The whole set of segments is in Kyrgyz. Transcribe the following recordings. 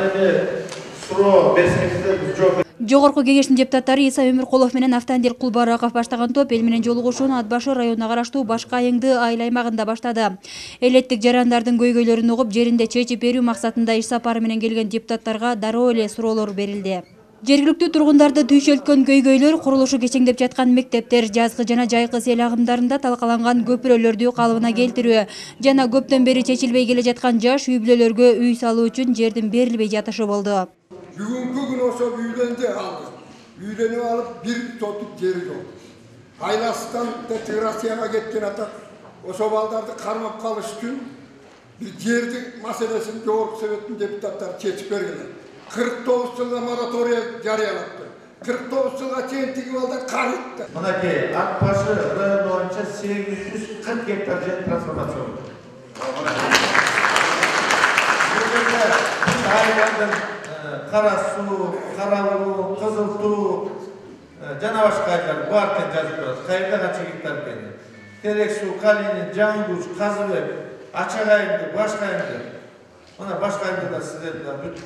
анан эми суроо берсеңиздер биз жооп. Жогорку кеңештин депутаттары Иса Өмүркулов менен Автандир Кулбараков баштаган топ эл менен жолугушууну Ат Башы районуна караштуу Башка Айыңды айыл аймагында баштады. Элеттик жарандардын көйгөйлөрүн угуп, жеринде чечип берүү максатында иш сапары менен келген депутаттарга дароо эле суроолор берилди. Жергиликтүү тургундарды түйшөлткөн көйгөйлөр курулушу кечеңдеп жаткан мектептер, жазгы жана жайкы сел агымдарында талкаланган көпүрөлөрдү калыбына келтирүү жана көптөн бери чечилбей келе жаткан жаш үй бүлөлөргө үй салуу үчүн жердин берилбей жатышы болду. Бүгүнкү күн ошо үйдөнү алды. Үйдөнүп алып бир сотук жери жок. Айласынан Россияга кеткен ата ошо балдарды кармап калыш үчүн бир жердин маселесин жогорку советтин депутаттары чечип берген. 49 жылга мораторий жарыялапты. 49 жылга чейин тиги балдар карытты. Мынакей Ак Башы району боюнча 840 гектар жер трансформация болду. Кара суу, кара улуу, кызыл туу жана башка айылдар бар экен жазып турат. Кайерде канча гектар экени. Терек суу, Калинин, Жаңгуч, Казыбек, Ачак Айыңды, Башка Айыңды. Мына Башка Айыңды да сиздердин бүт.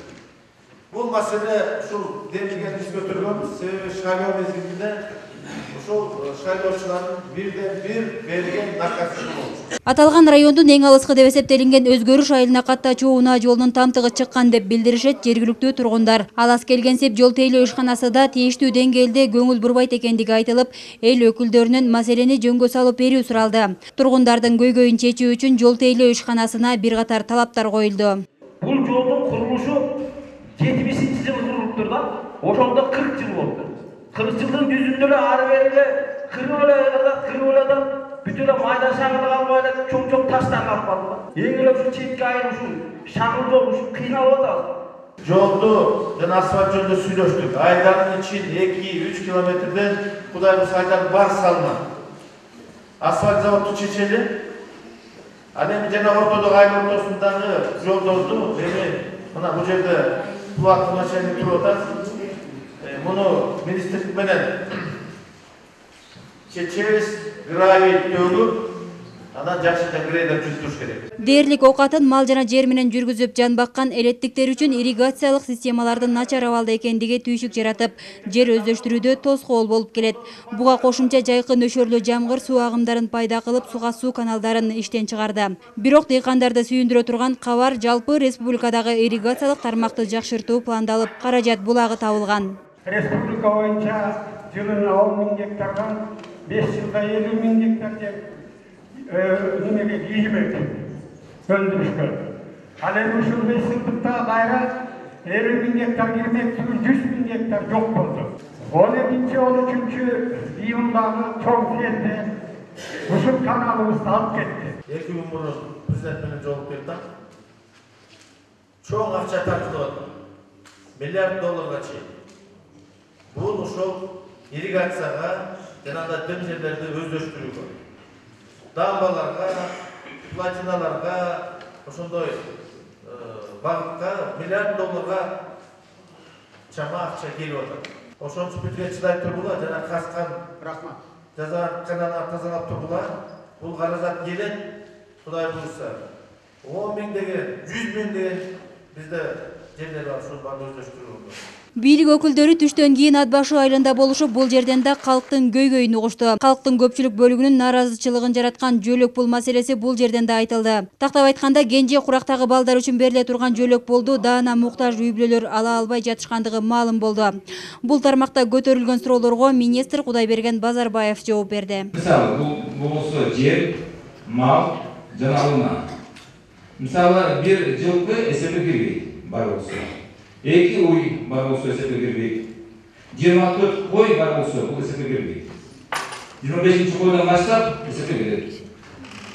Бул маселе ушул демилгенибиз көтөргөнбүз. Себеби шайлоо мезгилинде ушул шайлоочулардын бирден бир берген накасы болчу. Аталган райондун эң алыскы деп эсептелинген Өзгөрүш айылына каттачуу унаа жолунун тамтыгы чыккан деп билдиришет жергиликтүү тургундар. Алас келгенсип жол тейлөө ишканасы да тийиштүү деңгээлде көңүл бурбайт экендиги айтылып, эл өкүлдөрүнүн маселени жөнгө салып берүү суралды. Тургундардын көйгөйүн чечүү үчүн жол тейлөө ишканасына бир катар талаптар коюлду. Бул жолдун курулушу 70-жылы курулуптур да. Ошондо 40 жыл болду. 40 жылдын жүзүндө эле ары бери эле кырып эле бүт эле майда шаңырда калбай эле чоң таштар калып калды. Эң эле ушу четке айыл ушул шаңыр жол ушул кыйналып атабыз. Жолду жана асфальт жолду сүйлөштүк. Айдардын ичин 2-3 километрден Кудай буйруса айдар бар салынат. Асфальт заводду чечели. Ал эми жана ортодогу айыл ортосундагы жолдорду эми мына бул жерде плат начальник туруп атат. Муну министрлик менен чечебиз, гравий төгүп, анан жакшыда грейдер түзүш керек. Дээрлик оокатын мал жана жер менен жүргүзүп жан баккан элеттиктер үчүн ирригациялык системалардын начар абалда экендиги түйшүк жаратып, жер өздөштүрүүдө тоскоол болуп келет. Буга кошумча жайкы нөшөрлүү жамгыр суу агымдарын пайда кылып, суга суу каналдарын иштен чыгарды. Бирок дыйкандарды сүйүндүрө турган кабар жалпы республикадагы ирригациялык тармакты жакшыртуу пландалып, каражат булагы табылган. Республика боюнча жылына 10 000 гектардан 5 жылда 50 000 гектар жер немеге ийгилек өндүрүшкө. Ал эми ушул 5 жылдыкта кайра 50 000 гектар кирмек үчүн 100 000 гектар жок болду. 12-13 июндагы чоң селде ушул каналыбызды алып кетти. 2 күн мурун президент менен жолугуп келдик. Чоң акча тартылып атат. $1 миллиард чейин. Бул ошол ирригацияга жана да дем жерлерди өздөштүрүүгө, дамбаларга, платиналарга, ошондой багытка $1 миллиард чама акча келип атат. Ошончу бүтүнө чыдай тургула жана каскан рахмат. Жазаткананы тазалап тургула. Бул каражат келет. Кудай буйруса 10 000 деген, 100 000 деген бизде жерлер бар, ошол баарын өздөштүрүүгө. Бийлик өкүлдөрү түштөн кийин Ат Башы айылында болушуп, бул жерден да калктын көйгөйүн угушту. Калктын көпчүлүк бөлүгүнүн наразычылыгын жараткан жөлөк пул маселеси бул жерден да айтылды. Тактап айтканда, кенже курактагы балдар үчүн бериле турган жөлөк пулду даана муктаж үй бүлөлөр ала албай жатышкандыгы маалым болду. Бул тармакта көтөрүлгөн суроолорго министр Кудайберген Базарбаев жооп берди. Мисалы, бул болсо жер, мал жана унаа. Мисалы, бир жылкы эсепке кирбейт, бар болсо. 2 уй бар болсо эсепке кирбейт. 24 кой бар болсо бул эсепке кирбейт. 25 койдон баштап эсепке кирет.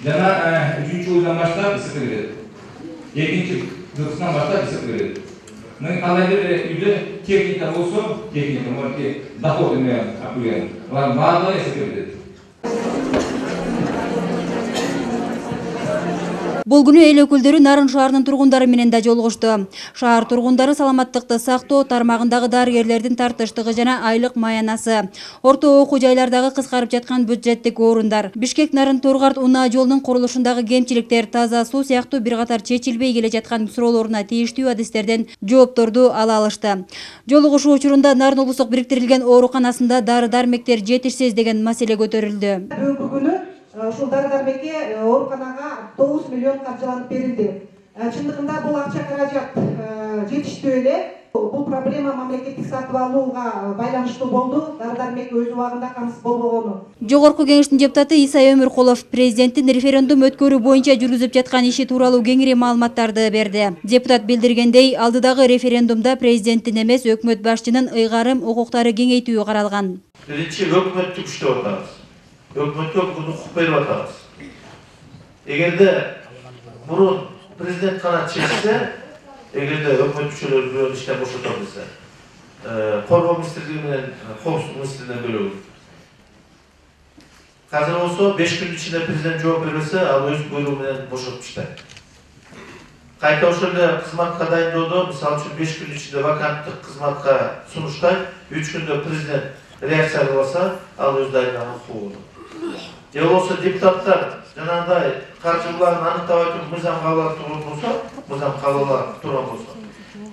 Жана 3 уйдан баштап эсепке кирет. 2 жылкысынан баштап эсепке кирет. Мына кандай бир үйдө техника болсо, техника мындай доход менен акуян. Алар баардыгы эсепке кирет. Бул күнү эл өкүлдөрү Нарын шаарынын тургундары менен да жолугушту. Шаар тургундары саламаттыкты сактоо тармагындагы дарыгерлердин тартыштыгы жана айлык маянасы, орто окуу жайлардагы кыскарып жаткан бюджеттик орундар, Бишкек Нарын Торгарт унаа жолунун курулушундагы кемчиликтер, таза суу сыяктуу бир катар чечилбей келе жаткан суроолоруна тийиштүү адистерден жоопторду ала алышты. Жолугушуу учурунда Нарын облустук бириктирилген ооруканасында дары-дармектер жетишсиз деген маселе көтөрүлдү. Бүгүнкү күнү ушул дары-дармекке ооруканага 9 миллион каржыланып берилди. Чындыгында бул акча каражат жетиштүү эле. Бул проблема мамлекеттик сатып алууга байланыштуу болду. Дары-дармек өз убагында камсыз болбогону. Жогорку кеңештин депутаты Исай Өмүркулов президенттин референдум өткөрүү боюнча жүргүзүп жаткан иши тууралуу кеңири маалыматтарды берди. Депутат билдиргендей, алдыдагы референдумда президенттин эмес, өкмөт башчынын ыйгарым укуктары кеңейтүү каралган. Биринчи өкмөттү күчтөп атабыз. Өкмөткө укук берип атабыз. Эгерде мурун президент гана чечсе, эгерде өкмөт мүчөлөрү бирөө иштен бошото билсе, коргоо министрлиги менен коопсуздук министрлигинен бөлөк. Азыр болсо 5 күн ичинде президент жооп бербесе, ал өз буйругу менен бошотуп таштайт. Кайта ошол эле кызматка дайындоодо, мисалы үчүн 5 күн ичинде ваканттык кызматка сунуштайт, 3 күндө президент реакция кылбаса, ал өз дайындаган укугу. Же болбосо депутаттар жанагындай каржыларын аныктабай туруп мыйзам кабыл алып турган болсо, мыйзам кабыл алып турган болсо,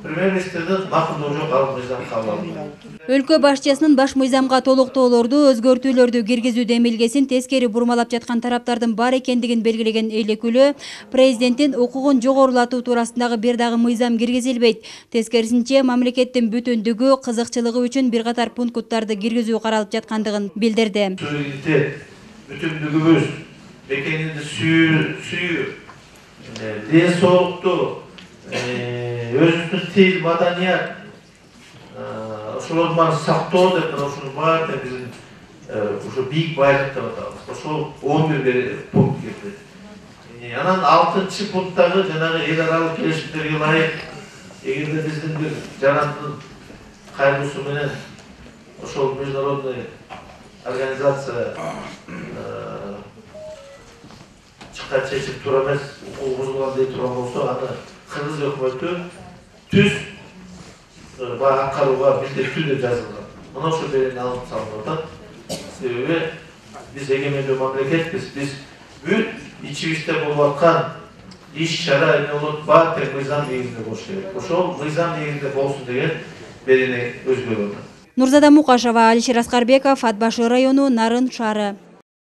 премьер-министрдин макулдугу жок, ал мыйзам кабыл албайт. Өлкө башчысынын баш мыйзамга толуктоолорду, өзгөртүүлөрдү киргизүү демилгесин тескери бурмалап жаткан тараптардын бар экендигин белгилеген эл өкүлү, президенттин укугун жогорулатуу туурасындагы бир дагы мыйзам киргизилбейт. Тескерисинче, мамлекеттин бүтүндүгү, кызыкчылыгы үчүн бир катар пункттарды киргизүү каралып жаткандыгын билдирди. Бүтүндүгүбүз, бекенинди сүйүү, ден соолукту, өзүбүздүн тил, маданият, ошолордун баарын сактоо деп ушунун баары биздин ушу бийик байлык деп атабыз. Ошол 11 пункт кирди. Анан 6 пункттагы жанагы эл аралык келишимдерге ылайык, эгерде биздин бир жарандын кайрылуусу менен ошол международный организация чыккан чечим туура эмес, укугу бузулган дей турган болсо, аны кыргыз өкмөтү түз аткарууга милдеттүү деп жазылган. Мына ошол берени алып салынып атат. Себеби биз эгемендүү мамлекетпиз. Биз бүт ичибизде болуп аткан иш-чара эмне болот, баары тең мыйзам негизинде болуш керек. Ошол мыйзам негизинде болсун деген берени өзгөрүп атат. Нурзада Мукашева, Алишер Аскарбеков, Ат Башы району, Нарын шаары.